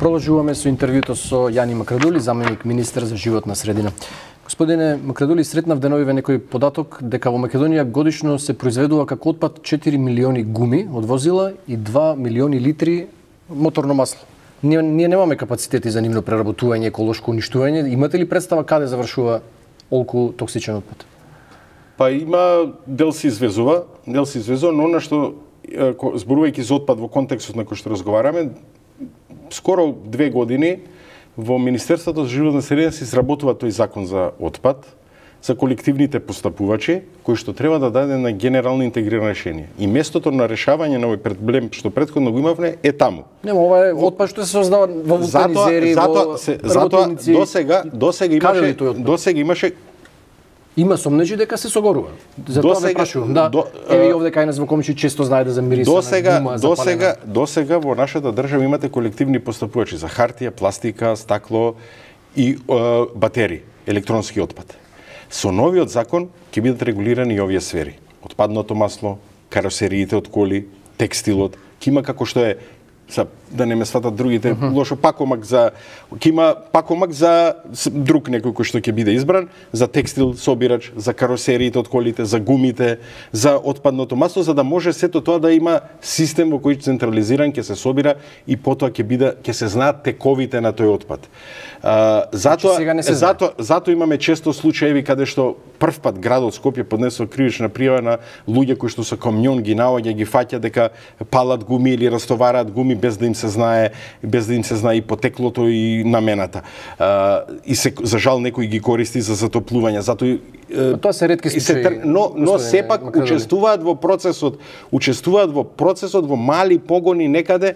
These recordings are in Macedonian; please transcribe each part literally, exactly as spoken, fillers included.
Продолжуваме со интервјуто со Јани Макрадули, заменик министер за животна средина. Господине Макрадули, сретнав деновиве некој податок дека во Македонија годишно се произведува како отпад четири милиони гуми од возила и два милиони литри моторно масло. Ние, ние немаме капацитети за нивно преработување, еколошко уништување. Имате ли представа каде завршува олку токсичен отпад? Па има, дел се извезува, дел се извезува, но она што зборувајќи за отпад во контекстот на кој што разговараме, скоро две години во Министерството за животна средина се изработува тој закон за отпад, за колективните постапувачи, кој што треба да даде на генерално интегрирано решение. И местото на решавање на овој проблем што претходно го имавме е таму. Нема, ова е отпад што се создава во вулканизери, во работилници. Досега, досега имаше, досега имаше Има сомнежи дека се согорува. Затоа ме прашувам. Да, до, еве и овде кај нас во Комши често знае да замириса досега, на гума запалена. Досега, досега во нашата држава имате колективни постапувачи за хартија, пластика, стакло и е, батери, електронски отпад. Со новиот закон ќе бидат регулирани и овие сфери. Отпадното масло, каросериите од коли, текстилот, ќе има како што е, са, да не ме сватат другите, uh -huh. лошо пакомак за ќе има пакомак за друг некој кој што ќе биде избран, за текстил собирач, за каросериите од колите, за гумите, за отпадното масло, за да може сето тоа да има систем во кој централизиран ќе се собира и потоа ќе биде ќе се знаат тековите на тој отпад. Uh, затоа, затоа, затоа имаме често случаи каде што првпат градот Скопје поднесува кривична пријава на луѓе кои што со камион ги наоѓа, ги фаќа дека палат гуми или растовараат гуми без да им се знае, без да им се знае и потеклото и намената. Uh, и се за жал некои ги користи за затоплување, затоа uh, тоа се ретки случаи. Но но сепак учествуваат во процесот, учествуваат во процесот во мали погони некаде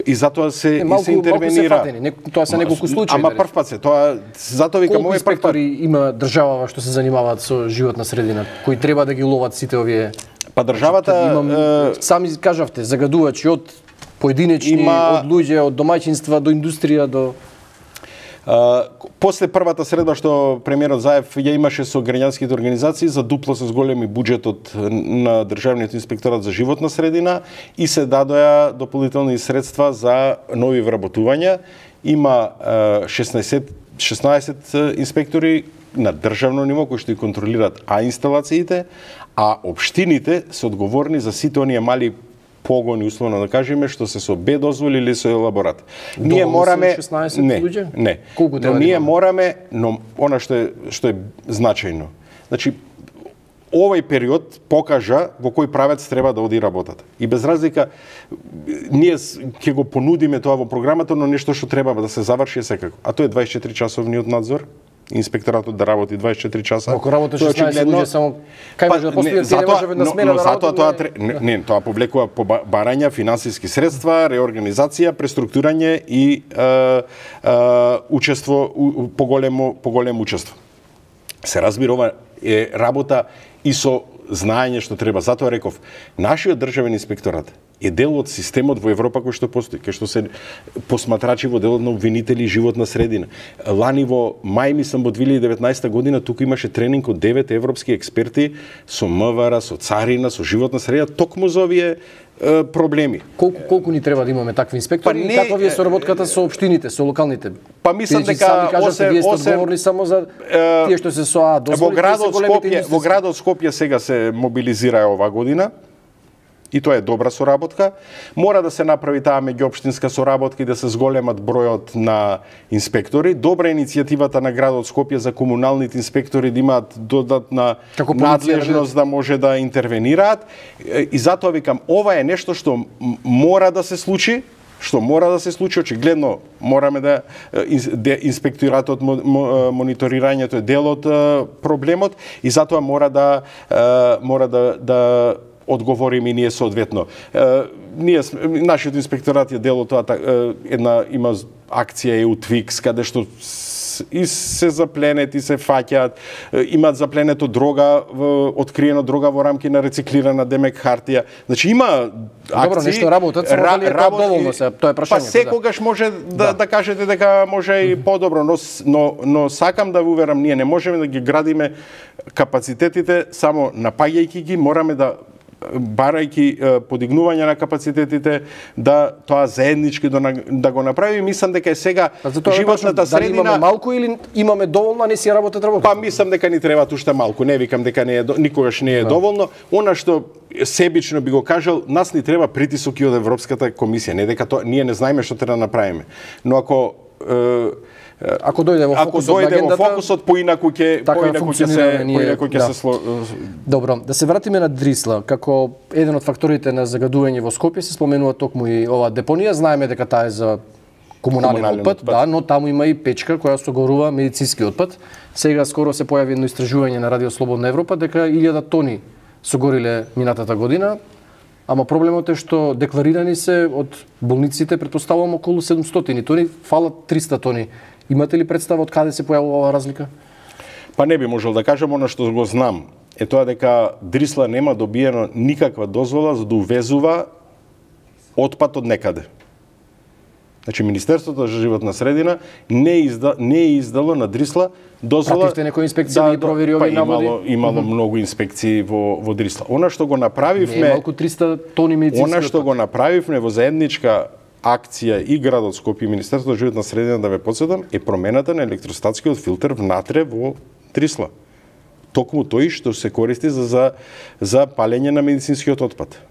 и затоа се е, малку, и се интервенира. Се тоа се неколку случаи. Ама прв пат се, тоа затоа викам овој прв пат. Има држава што се занимаваат со животна средина, кои треба да ги ловат сите овие. Па државата имам, е... сами кажавте, загадувачи од поединечни, има... од луѓе, од домаќинства до индустрија до Uh, после првата средба што премиерот Заев ја имаше со граѓанските организации за дупло се зголеми буџетот на Државниот инспекторат за животна средина и се дадоа дополнителни средства за нови вработувања. Има uh, шеснаесет, шеснаесет инспектори на државно ниво кои што ги контролираат а инсталациите, а општините се одговорни за сите оние мали погони, условно да кажеме, што се со Б дозволи или со елаборат. Ние мораме шеснаесет не, луѓе? Не. Колку но ние мораме, но она што е што е значајно. Значи овој период покажа во кој правец треба да оди работата. И без разлика ние ќе го понудиме тоа во програмата, но нешто што треба да се заврши секако. А тоа е дваесет и четири часовниот надзор. Инспекторатот да работи дваесет и четири часа. Ако работи шеснаесет луѓе само кај може да постои, не може веднаш смена да работи. Тоа не, не, тоа повлекува барања, финансиски средства, реорганизација, преструктурање и е, е, учество поголемо поголемо учество. Се разбира, ова е работа и со знаење што треба. Затоа реков, нашиот државен инспекторат е дел од системот во Европа кој што постои, кај што се посматрачи во делот на обвинители животна средина. Лани во мај, мислам, во две илјади и деветнаесета година, тука имаше тренинг од девет европски експерти со МВР, со царина, со животна средина, токму за овие е, проблеми. Колку колку ни треба да имаме такви инспектори па не, и каква ви е соработката со општините, со локалните? Па мислам дека кажете, вие сте одговорни само за тие што се со а дозволите. Во градот Скопје, во градот Скопје сега се мобилизира оваа година. И тоа е добра соработка. Мора да се направи таа меѓуопштинска соработка и да се зголемат бројот на инспектори. Добра иницијативата на градот Скопје за комуналните инспектори да имаат додатна надлежност да може да интервенираат. И затоа викам, ова е нешто што мора да се случи, што мора да се случи, очигледно мораме да инспекторатот, мониторирањето е дел од проблемот и затоа мора да мора да да одговориме и ние соодветно. Е, ние нашиот инспекторат е дел од тоа една има акција е Утвикс каде што и се запленет и се фаќаат, имаат запленето дрога, откриено дрога во рамки на рециклирана демек хартија. Значи има акции. Добро, нешто работат, само дали е тоа доволно се, тоа е прашањето. Па секогаш може да, да. да кажете дека може и подобро, но, но, но сакам да ви уверам, ние не можеме да ги градиме капацитетите само напаѓајќи ги, мораме да барајќи подигнување на капацитетите, да тоа заеднички да го направи. Мислам дека е сега животната средина... Дали имаме малку или имаме доволно, а не си работат работа? Па мислам дека ни треба уште малку. Не викам дека не е никогаш не е доволно. Она што себично би го кажал, нас ни треба притисок и од Европската комисија, не дека тоа ние не знаеме што треба да направиме. Но ако Ако дојде во фокусот на агендата, во фокусот поинаку ќе поинаку ќе се поинаку ќе се сло... Добро, да се вратиме на Дрисла. Како еден од факторите на загадување во Скопје се споменува токму и оваа депонија. Знаеме дека таа е за комунален, комунален отпад, отпад, да, но таму има и печка која согорува медицински отпад. Сега скоро се појави едно истражување на Радио Слободна Европа дека илјада тони согориле минатата година. Ама проблемот е што декларирани се од болниците, претпоставувам, околу седумстотини тони, фалат триста тони. Имате ли представа од каде се појавува оваа разлика? Па не би можел да кажам, она што го знам е тоа дека Дрисла нема добиено никаква дозвола за да увезува отпад од некаде. Значи Министерството за животна средина не изда, не е издало на Дрисла дозвола. Пративте некои инспекции да ги провери овие па, наводи? Имало, имало mm -hmm. многу инспекции во во Дрисла. Она што го направивме, не е малку триста тони медицински. Она што го направивме во заедничка акција и градот Скопје и Министерството за животна средина, да ве потсетам, е промената на електростатскиот филтер внатре во Дрисла. Токму тој што се користи за за, за палење на медицинскиот отпад.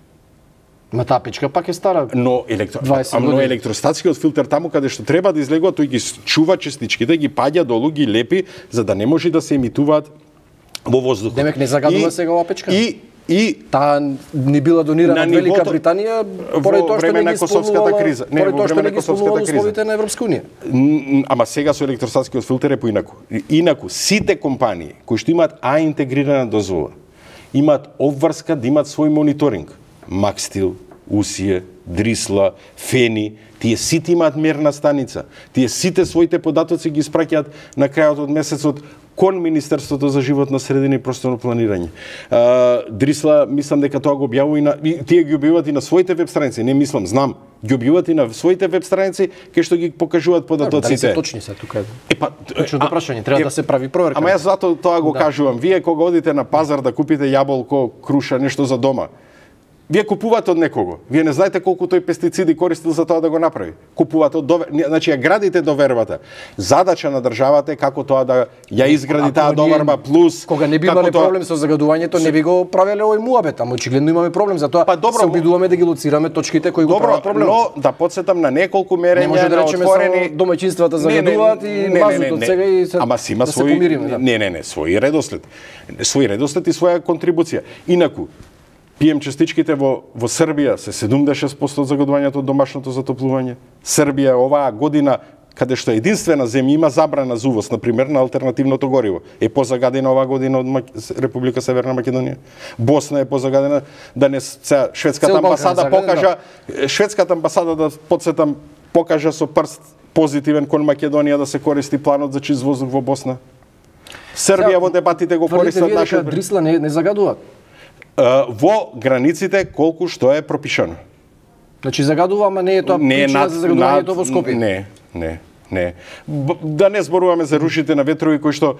Ма таа печка пак е стара. Но електро... но електростатскиот филтер таму каде што треба да излегува, тој ги чува честичките, ги паѓа долу, ги лепи за да не може да се емитуваат во воздухот. Демек не загадува и, сега оваа печка? И и таа не била донирана од Велика Британија поради тоа што не ги косовската криза. Не, во време на косовската криза. Условите на Европска унија. Ама сега со електростатскиот филтер е поинаку. Инаку сите компании кои што имаат А интегрирана дозвола, имаат обврска да имаат свој мониторинг. Макстил, Усие, Дрисла, Фени, тие сите имаат мерна станица. Тие сите своите податоци ги испраќаат на крајот од месецот кон Министерството за животна средина и просторно планирање. А, Дрисла, мислам дека тоа го објавува и на и тие ги објавуваат и на своите веб страници, не мислам, знам, ги објавуваат и на своите веб страници кај што ги покажуваат податоците. Дали се точни се тука? Е па точното прашање, треба е, да се прави проверка. Ама јас затоа тоа го да. кажувам. Вие кога одите на пазар да купите јаболко, круша, нешто за дома, вие купувате од некого. Вие не знаете колку тој пестициди користил за тоа да го направи. Купувате од довер... значи ја градите довербата. Задача на државата е како тоа да ја изгради таа доверба плюс. Кога не би имале тоа... проблем со загадувањето, не би го правеле овој муабет, ама очигледно имаме проблем, затоа па, добро, се обидуваме да ги лоцираме точките кои добро, го прават проблем. Но да потсетам на неколку мерења, не може да речеме отворени само домаќинствата загадуваат и мазут од сега и се ама си има да свој... се помириме. Да. Не, не, не, свој редослед. Свој редослед и своја контрибуција. Инаку пием частичките во во Србија се седумдесет и шест проценти од загадувањето од домашното затоплување. Србија оваа година каде што единствена земја има забрана за увоз, на пример, на алтернативното гориво, е позагадена оваа година од Мак... Република Северна Македонија. Босна е позагадена, да не се шведската амбасада покажа, шведската амбасада да потсетам покажа со прст позитивен кон Македонија да се користи планот за чист воздух во Босна. Србија во дебатите го користат нашиот Дрисла не, не загадуваат. Во границите колку што е пропишано. Значи загадува, ама не е тоа не причина над, за загадувањето во Скопје. Не, не, не. Б, да не зборуваме за рушите на ветрови кои што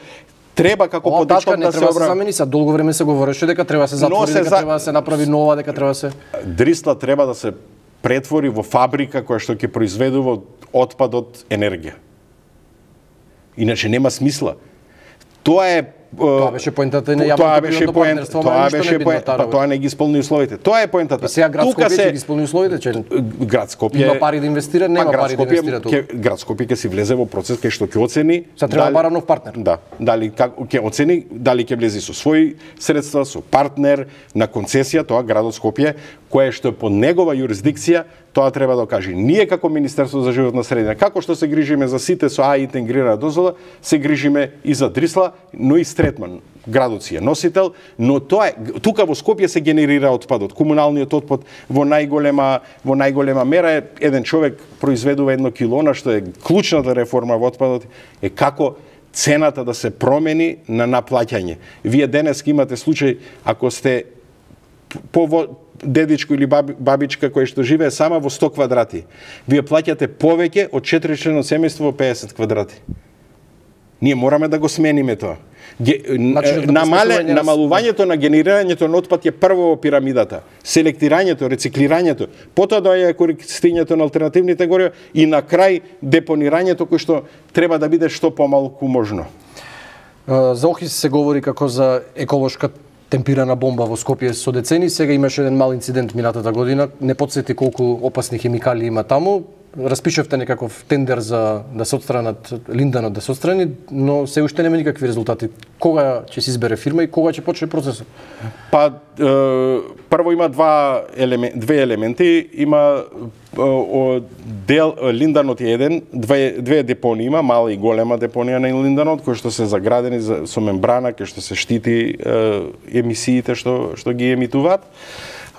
треба како Ова податок да се обра... се замени, са долго време се говореше дека треба се затвори, дека за... треба да се направи нова, дека треба се Дрисла треба да се претвори во фабрика која што ќе произведува отпад од енергија. Иначе нема смисла. Тоа е Тоа беше поентата на јавно-приватно партнерство, тоа беше поентата, па тоа не ги исполни условите. Тоа е поентата. Сега град Скопје се... ќе ги исполни условите, че град Скопје има пари да инвестира, нема пари да инвестира тука. Град Скопје ќе си влезе во процес кај што ќе оцени. Се треба бара нов партнер. Да, дали как ќе оцени дали ќе влезе со своји средства, со партнер на концесија, тоа градот Скопје, кое што е под негова јурисдикција, тоа треба да каже. Ние како Министерство за животна средина, како што се грижиме за сите со А интегрирана дозвола, се грижиме и за Дрисла, но и Стретман. Градот си е носител, но тоа е тука во Скопје се генерира отпадот. Комуналниот отпад во најголема во најголема мера е еден човек произведува едно кило, што е клучната реформа во отпадот е како цената да се промени на наплаќање. Вие денес имате случај ако сте по дедичко или бабичка која што живее сама во сто квадрати. Вие плаќате повеќе од четиричлено семејство во пеесет квадрати. Ние мораме да го смениме тоа. Ге, Значи, намале, намалувањето на генерирањето на отпад е прво во пирамидата. Селектирањето, рециклирањето, потоа доаѓа користењето на алтернативните горива и на крај депонирањето кој што треба да биде што помалку можно. За Охис се говори како за еколошка темпирана бомба во Скопје со децени. Сега имаше еден мал инцидент минатата година. Не потсети колку опасни хемикали има таму. Распишавте некаков тендер за да се отстранат линданот да се отстрани, но се уште нема никакви резултати. Кога ќе се избере фирма и кога ќе почне процесот? Па е, прво има два елементи, две елементи, има о, дел линданот е еден, две две депонии има, мала и голема депонија на линданот кои што се заградени за, со мембрана кој што се штити е, емисиите што што ги емитуваат.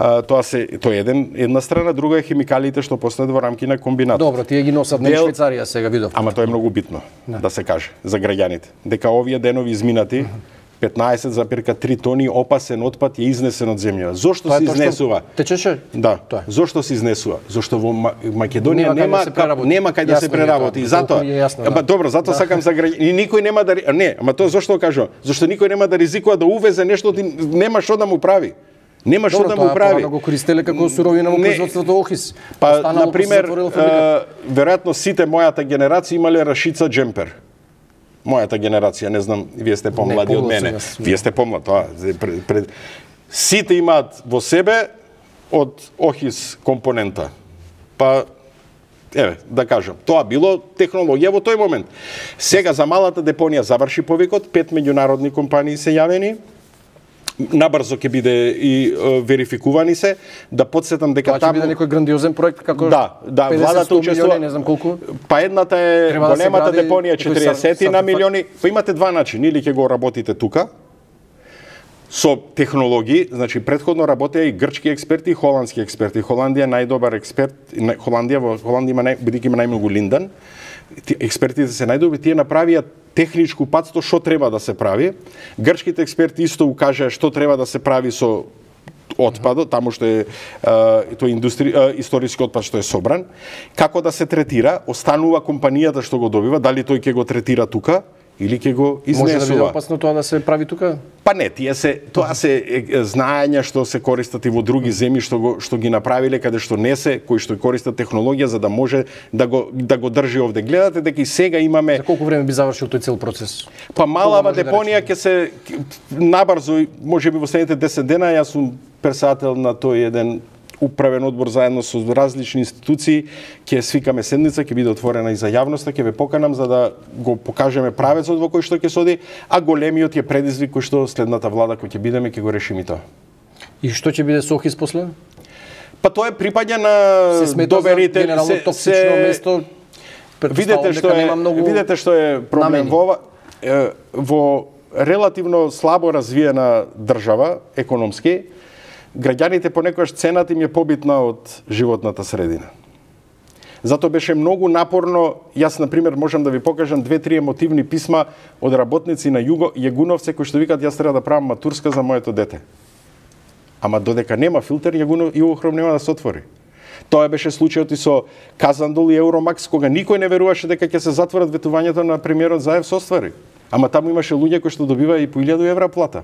А, тоа се тоа е еден една страна, друга е хемикалите што постојат во рамки на комбинат. Добро, тие ги носат на Швајцарија сега видов. Ама тоа е многу битно да. да се каже за граѓаните. Дека овие денови изминати петнаесет зарез три тони опасен отпад е изнесен од земјава. Зошто се изнесува? Течеше? Да. Тоа. Зошто се изнесува? Зошто во Македонија нема нема нема кај да се преработи. Затоа. Ама добро, затоа да. Сакам за граѓани. И никој нема да не, ама тоа зошто кажувам? Зошто никој нема да ризикува да увезе нешто, нема што да му прави. Нема што да му прави. Добро, го користеле како суровина во производството Охис. Па, на пример, веројатно сите мојата генерација имале рашица джемпер. Мојата генерација, не знам, вие сте помлади од мене. Вие сте помлад, тоа. Пред, пред... Сите имаат во себе од Охис компонента. Па, еве, да кажам, тоа било технологија во тој момент. Сега за малата депонија заврши повикот, пет меѓународни компании се јавени. Набрзо ќе биде и е, верификувани се, да подсетам дека таму... Тоа ќе биде некој грандиозен проект како да, да, владата учествува, не знам колку. Па едната е Треба големата да депонија четириесет на милиони, па имате два начини, или ќе го работите тука со технологии, значи предходно работеа и грчки експерти и холандски експерти. Холандија најдобар експерт, Холандија во Холандија има нај, бидејќи има најмногу линдан. Експертите се најдобри, тие направија техничку патство што треба да се прави. Грчките експерти исто укажаа што треба да се прави со отпадот, таму што е тој индустри, историски отпад што е собран, како да се третира, останува компанијата што го добива, дали тој ќе го третира тука или ќе го изнесува. Може да биде опасно тоа да се прави тука? Па не, тие се тоа се знаења што се користат и во други земји што го што ги направиле каде што не се, кои што користат технологија за да може да го да го држи овде. Гледате дека и сега имаме. За колку време би завршил тој цел процес? Па малава депонија ќе се набрзо, можеби во следните десет дена, јас сум председател на тој еден управен одбор заедно со различни институции, ќе свикаме седница, ќе биде отворена и за јавноста, ќе ве поканам за да го покажеме правецот во кој што ќе соди, а големиот е предизвик кој што следната влада кој ќе бидеме ќе го решиме тоа. И што ќе биде со Охис после? Па тоа е припаѓа на доверите, се токсично место. Видете што е, многу... видете што е проблем во во релативно слабо развиена држава економски. Граѓаните понекогаш цената им е побитна од животната средина. Затоа беше многу напорно, јас на пример можам да ви покажам две-три емотивни писма од работници на Југо Јагуновце кои што викаат јас треба да правам матурска за моето дете. Ама додека нема филтер, Јагунов Југохром нема да се отвори. Тоа беше случајот и со Казандол и Евромакс, кога никој не веруваше дека ќе се затворат ветувањето на премиерот Заев со оствари. Ама таму имаше луѓе кои што добиваа и по илјаду евра плата.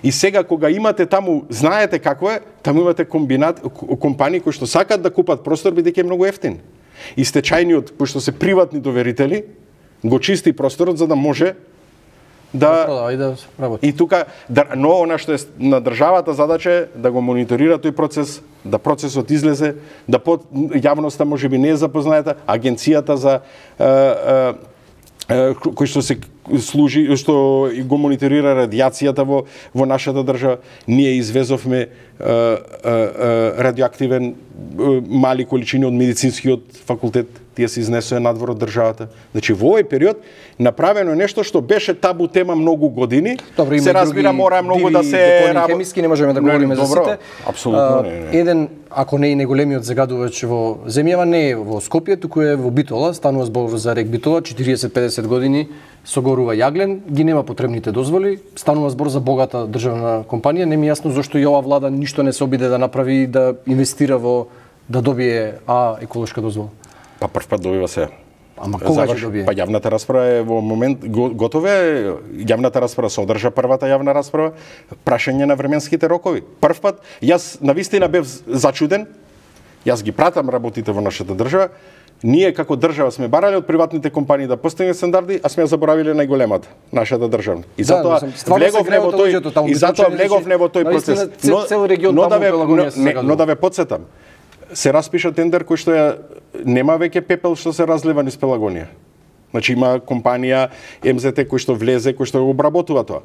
И сега кога имате таму, знаете како е, таму имате комбинат компании кои што сакаат да купат простор бидејќи е многу ефтин. И стечајниот, кои што се приватни доверители, го чисти просторот за да може да да, да работи. И тука да, но она што е на државата задача е да го мониторира тој процес, да процесот излезе, да под јавноста можеби не е запозната, агенцијата за е, е, кој што се служи, што го мониторира радијацијата во во нашата држава, ние извезовме е, е, е, радиоактивен е, мали количини од медицинскиот факултет, тие се изнесоа надвор од државата. Значи во овој период направено е нешто што беше табу тема многу години. Добро, се разбира мора многу да се работи. Хемиски не можеме да говориме за сите. Апсолутно не, не. Еден, ако не и најголемиот загадувач во земјава, не е во Скопје, туку е во Битола, станува збор за рек Битола, четириесет-педесет години согорува јаглен, ги нема потребните дозволи, станува збор за богата државна компанија, не ми е јасно зошто и ова влада ништо не се обиде да направи да инвестира во да добие а еколошка дозвола. Па прв пат добива се. Ама кога ќе добие? Па јавната расправа е во момент готова е. Јавната расправа се одржа првата јавна расправа, прашање на временските рокови. Прв пат јас навистина бев зачуден. Јас ги пратам работите во нашата држава. Ние како држава сме барале од приватните компании да постигнат стандарди, а сме заборавиле најголемата, нашата државна. И затоа влегов не во тој и затоа влегов не во тој процес. Но цел регион но да таму ве Пелагонија се но да ве потсетам. Се распиша тендер кој што ја нема веќе пепел што се разлива низ Пелагонија. Значи има компанија Ем Зет кој што влезе, кој што го обработува тоа.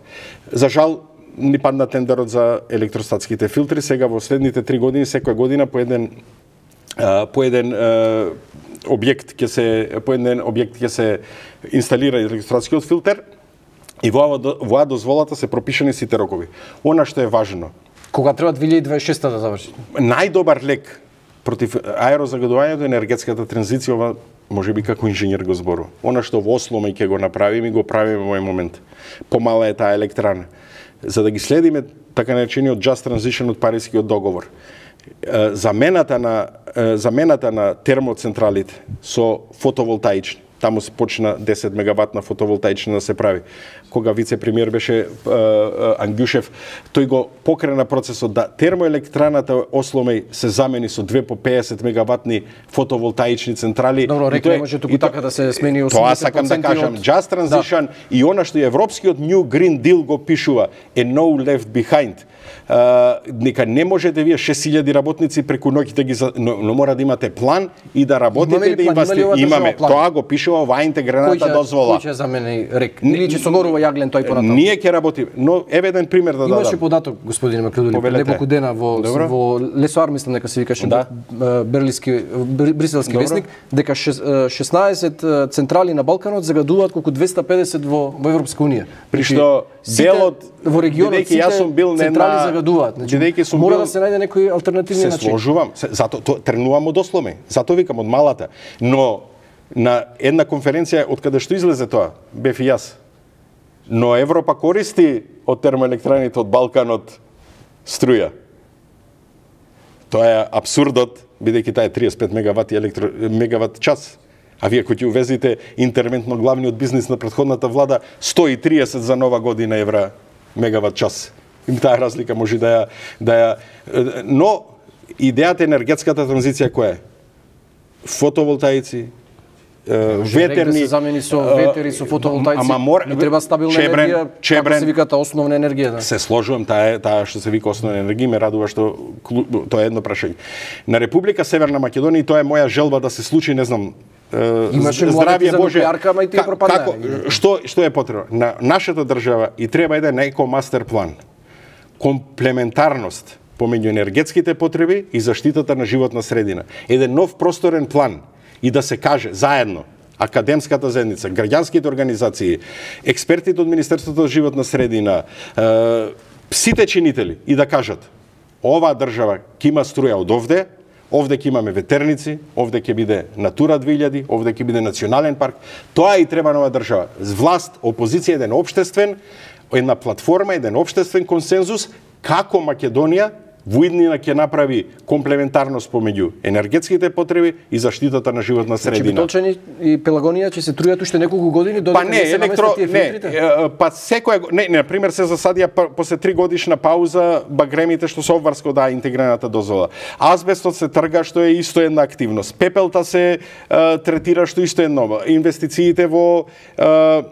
За жал ни падна тендерот за електростатските филтри, сега во следните три години секоја година по еден по еден објект ќе се по еден објект ќе се инсталира електростатскиот филтер и во оваа дозволата се пропишани сите рокови. Она што е важно, кога треба две илјади дваесет и шеста да заврши? Најдобар лек против аерозагадувањето, енергетската транзиција, ова можеби како инженер го збору. Она што во Осло ќе го направиме, го правиме во овој момент. Помала е таа електрана. За да ги следиме така наречениот Just Transition од Парискиот договор. Замената на замената на термоцентралите со фотоволтаични. Таму се почна десет мегаватна фотоволтаична да се прави. Кога вице-премиер беше Ангјушев, тој го покрена процесот да термоелектраната Осломеј се замени со две по пеесет мегаватни фотоволтаични централи. Добро, рекли може туку така да се смени осемдесет проценти. Тоа сакам да кажам, Just Transition, да. И она што европскиот New Green Deal го пишува е No Left Behind. Uh, нека не можете вие шест илјади работници преку ноќ да ги за... но, но мора да имате план и да работите и да инвестирате. Имаме, тоа го пишува оваа интегрената дозвола. Кој ќе замени рек? Или ќе согорува јаглен тој понатаму? Ние ќе работиме, но еве еден пример да дадам. Имаше податок, господине Макредули, пред неколку дена во Добро. во Лесоар, мислам дека се викаше, да. Берлиски бриселски весник, дека шеснаесет централи на Балканот загадуваат колку двеста и педесет во во Европска унија. При што делот во регионот сите јас сум бил централи загадуваат. Значи, мора да се најде некој алтернативни начин. Се сложувам, затоа тренувам од Осломе, затоа викам од малата. Но на една конференција од каде што излезе тоа, бев и јас. Но Европа користи од термоелектраните од Балканот струја. Тоа е абсурдот, бидејќи таа е триесет и пет мегавати електро мегават час. А вие кој ќе увезите интервентно главниот бизнис на претходната влада сто и триесет за нова година евра мегават час. Им таа разлика може да ја да ја но идејата енергетската транзиција која е? Фотоволтаици, ветерни, да се замени со ветери, со фотоволтаици. Ама мора, не треба стабилна чебрен, енергија, чебрен, како се виката основна енергија, да. Се сложувам, таа е таа што се вика основна енергија, ме радува што тоа е едно прашање. На Република Северна Македонија, и тоа е моја желба да се случи, не знам, имаше здравје Боже, ама и тие пропаднале. Како што што е потребно? На нашата држава и треба еден еко мастер план. Комплементарност помеѓу енергетските потреби и заштитата на животна средина. Еден нов просторен план и да се каже заедно академската заедница, граѓанските организации, експертите од Министерството за животна средина, е, сите чинители и да кажат оваа држава ќе има струја од овде, овде ќе имаме ветерници, овде ќе биде Натура две илјади, овде ќе биде национален парк. Тоа и треба нова држава. Власт, опозиција, еден општествен, една платформа, еден општествен консензус како Македонија во иднина ќе направи комплементарност помеѓу енергетските потреби и заштитата на животна средина. Значи Битолчани и Пелагонија ќе се трујат уште неколку години додека па не, не се електро, наместат тие филтрите? Не, па секоја не, не, на пример се засадија после три годишна пауза багремите што се обврско да интегрената дозвола. Азбестот се трга што е исто една активност. Пепелта се е, третира што исто едно. Инвестициите во е,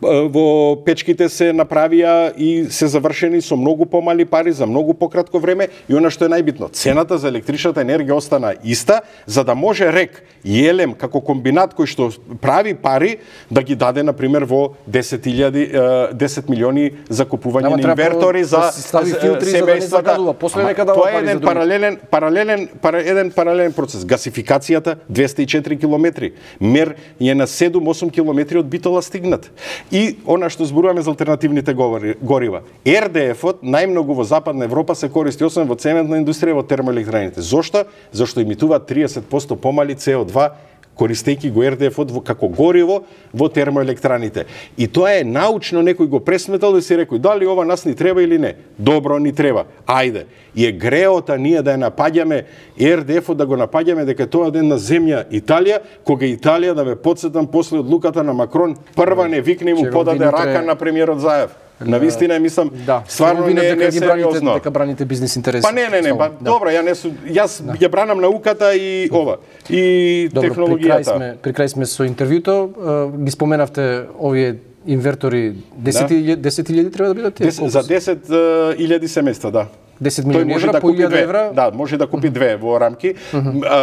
во печките се направија и се завршени со многу помали пари за многу пократко време и она што е најбитно, цената за електричната енергија остана иста, за да може РЕК и Елем како комбинат кој што прави пари да ги даде на пример во десет илјади десет милиони за купување на инвертори за семејствата. Тоа е еден паралелен паралелен еден паралелен процес. Гасификацијата двеста и четири километри, мер е на седум-осум километри од Битола стигнат. И она што зборуваме за алтернативните горива. ер де еф-от најмногу во Западна Европа се користи освен во цементна индустрија, во термоелектраните. Зошто? Зашто емитуваат триесет проценти помали С O два користејќи го ер де еф-от како гориво во термоелектраните. И тоа е научно, некој го пресметал и си рекој дали ова нас ни треба или не. Добро, ни треба. Ајде. И е греота ние да ја напаѓаме ер де еф-от, да го напаѓаме дека тоа е една земја Италија, кога Италија, да ве потсетам, после одлуката на Макрон, прва не викне и му подаде рака на премиерот Заев. На вистина мислам, да, стварно не е дека несериозно. Дека браните бизнис интереси. Па не, не, не, па да. Добро, ја не су, јас да. Ја бранам науката и ова, и добро, технологијата. При крај сме, при крај сме со интервјуто, ги споменавте овие инвертори, десет илјади треба да бидат тие? За десет илјади семејства, да. десет милиони евра, по илјада евра. Да, може да купи две во рамки.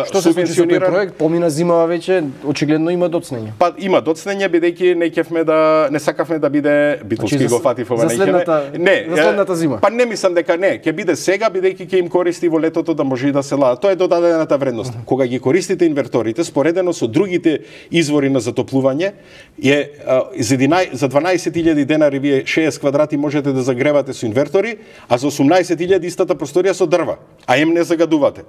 Што се случи со тој проект? Помина зимава веќе, очигледно има доцнење. Па има доцнење, бидејќи не ќевме да не сакавме да биде Битолски го фати во за следната, не, за следната зима. Па не мислам дека не, ќе биде сега бидејќи ќе им користи во летото да може и да се лада. Тоа е додадената вредност. Кога ги користите инверторите, споредено со другите извори на затоплување, е за дванаесет илјади денари вие шеесет квадрати можете да загревате со инвертори, а за осумнаесет илјади истата просторија со дрва, а им не загадувате.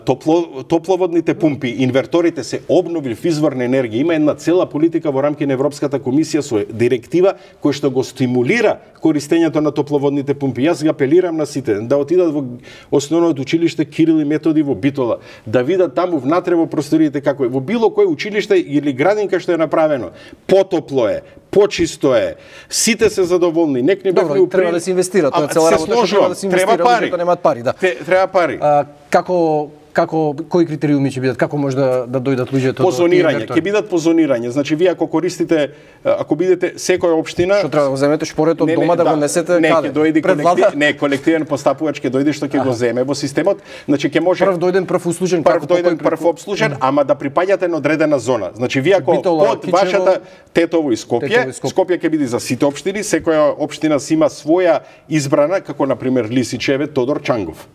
Топло, топловодните пумпи, инверторите се обновлив извор на енергија. Има една цела политика во рамки на Европската комисија со директива која што го стимулира користењето на топловодните пумпи. Јас ги апелирам на сите да отидат во основното училиште Кирил и Методи во Битола, да видат таму внатре во просториите како е. Во било кој училиште или градинка што е направено, потопло е, почисто е, сите се задоволни. Нек не Добро, упри... треба да се инвестира, тоа е цела работа, што треба да се инвестира, треба пари. Да немаат пари, да. Те, треба пари. А, како како кои критериуми ќе бидат, како може да да дојдат луѓето до позонирање, ќе бидат позонирање. Значи вие ако користите, ако бидете секоја општина, што треба да го земете шпорето од дома да, да го несете не, каде? Не, ќе дојде колектив, не, колективен постапувач ќе дојде што ќе го земе во системот. Значи ќе може прв дојден прв услужен, прв дојден прв обслужен, ама да припаѓате на одредена зона. Значи вие ако Битола, под Кичево, вашата Тетово и Скопје, Скопје ќе биде за сите општини, секоја општина си има своја избрана, како на пример Лисичеве, Тодор Чангов.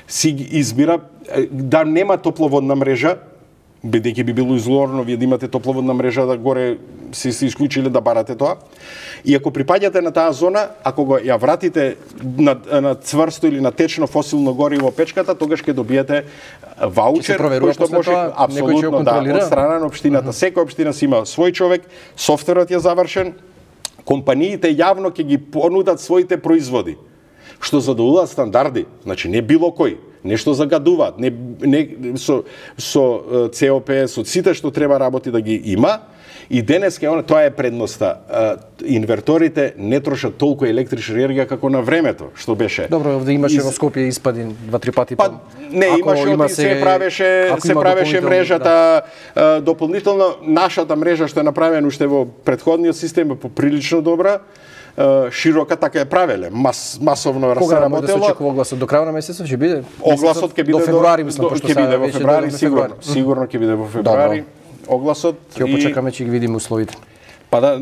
Си избира да нема топловодна мрежа, бидејќи би било излорно вие да имате топловодна мрежа да горе си се исклучиле да барате тоа. И ако припаѓате на таа зона, ако го ја вратите на, на цврсто или на течно фосилно гориво печката, тогаш ќе добиете ваучер кој што може тоа, апсолутно да од страна на општината. Uh -huh. Секоја општина си има свој човек, софтверот е завршен, компаниите јавно ќе ги понудат своите производи што задоволуваат стандарди, значи не било кој, нешто загадуваат, не, не со со це о пе, со сите што треба работи да ги има. И денеска она тоа е предноста. Инверторите не трошат толку електрична енергија како на времето, што беше. Добро, овде имаше Из... во Скопје испади два-три пати. Па не, имаше има се, се правеше, се правеше мрежата да. Дополнително нашата мрежа што е направена уште во претходниот систем е поприлично добра. Широка така е правеле, мас, масовно Кога работело. Кога да се очекува огласот до крај на месецот ќе биде? Огласот ќе биде до февруари, мислам, пошто ќе биде во февруари, сигурно, сигурно ќе биде во февруари. Огласот ќе го почекаме, ќе ги видиме условите. Па да,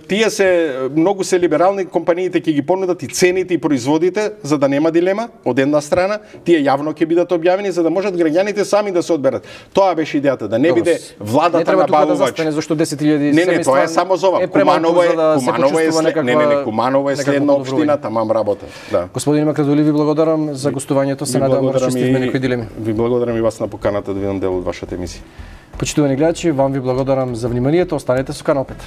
тие се многу се либерални, компаниите ќе ги понудат и цените и производите за да нема дилема од една страна, тие јавно ќе бидат објавени за да можат граѓаните сами да се одберат. Тоа беше идејата, да не Добро, биде владата не треба набавувач. Да застане зашто десет илјади Не, не, тоа е само за ова. Е Куманово е, да Куманово е, след... некаква... не, не, не, Куманово е следна општина, тамам работа. Да. Господин Макрадули, ви благодарам за гостувањето, се надевам да расчистиме некои дилеми. Ви благодарам и вас на поканата да видам дел од вашата емисија. Почитувани гледачи, вам ви благодарам за вниманието, останете со Канал пет.